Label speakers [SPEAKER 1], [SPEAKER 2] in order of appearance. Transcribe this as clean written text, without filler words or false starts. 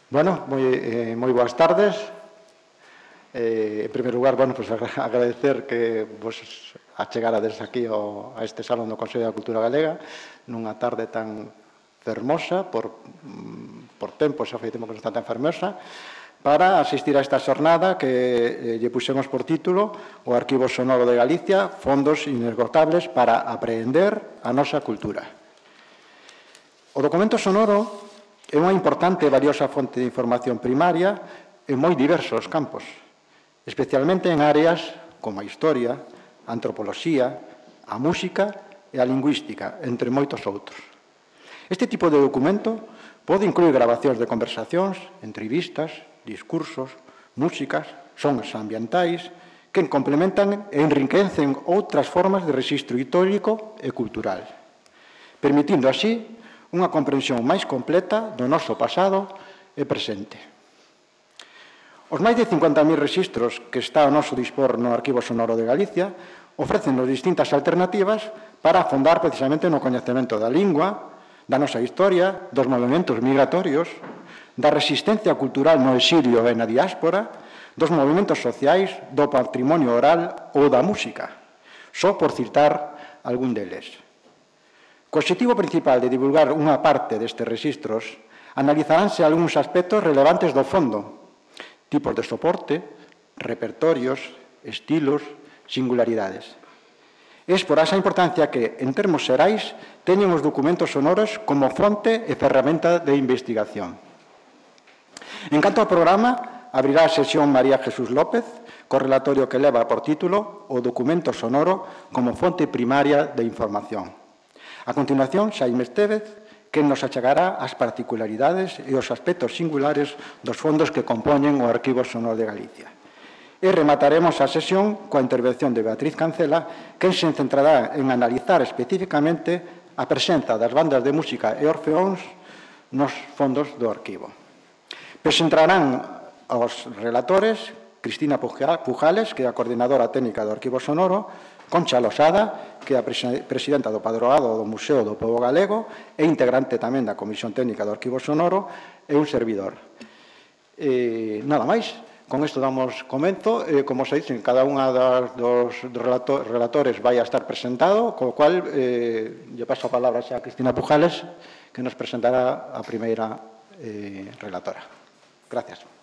[SPEAKER 1] Bueno, moi boas tardes. En primeiro lugar, pues agradecer que vos achegarades aquí a este Salón do Consello da Cultura Galega nunha tarde tan fermosa, por tempo xa foi tempo que non está tan fermosa, para asistir a esta xornada que lle puxemos por título o Arquivo Sonoro de Galicia, fondos inesgotables para aprender a nosa cultura. O documento sonoro é unha importante e valiosa fonte de información primaria en moi diversos campos, especialmente en áreas como a historia, a antropoloxía, a música e a lingüística, entre moitos outros. Este tipo de documento pode incluir grabacións de conversacións, entrevistas, discursos, músicas, sons ambientais, que complementan e enriquecen outras formas de rexistro histórico e cultural, permitindo así unha comprensión máis completa do noso pasado e presente. Os máis de 50.000 rexistros que está ao noso dispor no Arquivo Sonoro de Galicia ofrecen distintas alternativas para afondar precisamente no coñecemento da lingua, da nosa historia, dos movimentos migratorios, da resistencia cultural no exilio e na diáspora, dos movimentos sociais, do patrimonio oral ou da música, só por citar algún deles. Co obxectivo principal de divulgar unha parte destes rexistros, analizaránse algúns aspectos relevantes do fondo, tipos de soporte, repertorios, estilos, singularidades. É por esa importancia que, en termos xerais, teñen os documentos sonoros como fonte e ferramenta de investigación. En canto ao programa, abrirá a sesión María Jesús López, co relatorio que leva por título o documento sonoro como fonte primaria de información. A continuación, Xaime Estévez, que nos achegará as particularidades e os aspectos singulares dos fondos que compoñen o Arquivo Sonoro de Galicia. E remataremos a sesión coa intervención de Beatriz Cancela, que se centrará en analizar especificamente a presenza das bandas de música e orfeóns nos fondos do arquivo. Presentarán aos relatores Cristina Pujales, que é a coordinadora técnica do Arquivo Sonoro, Concha Losada, que é a presidenta do Padroado do Museo do Pobo Galego e integrante tamén da Comisión Técnica do Arquivo Sonoro, e un servidor. Nada máis, con isto damos comenzo. Como se dice, cada unha dos relatores vai a estar presentado, co cual lle paso a palabra xa a Cristina Pujales, que nos presentará a primeira relatora. Gracias.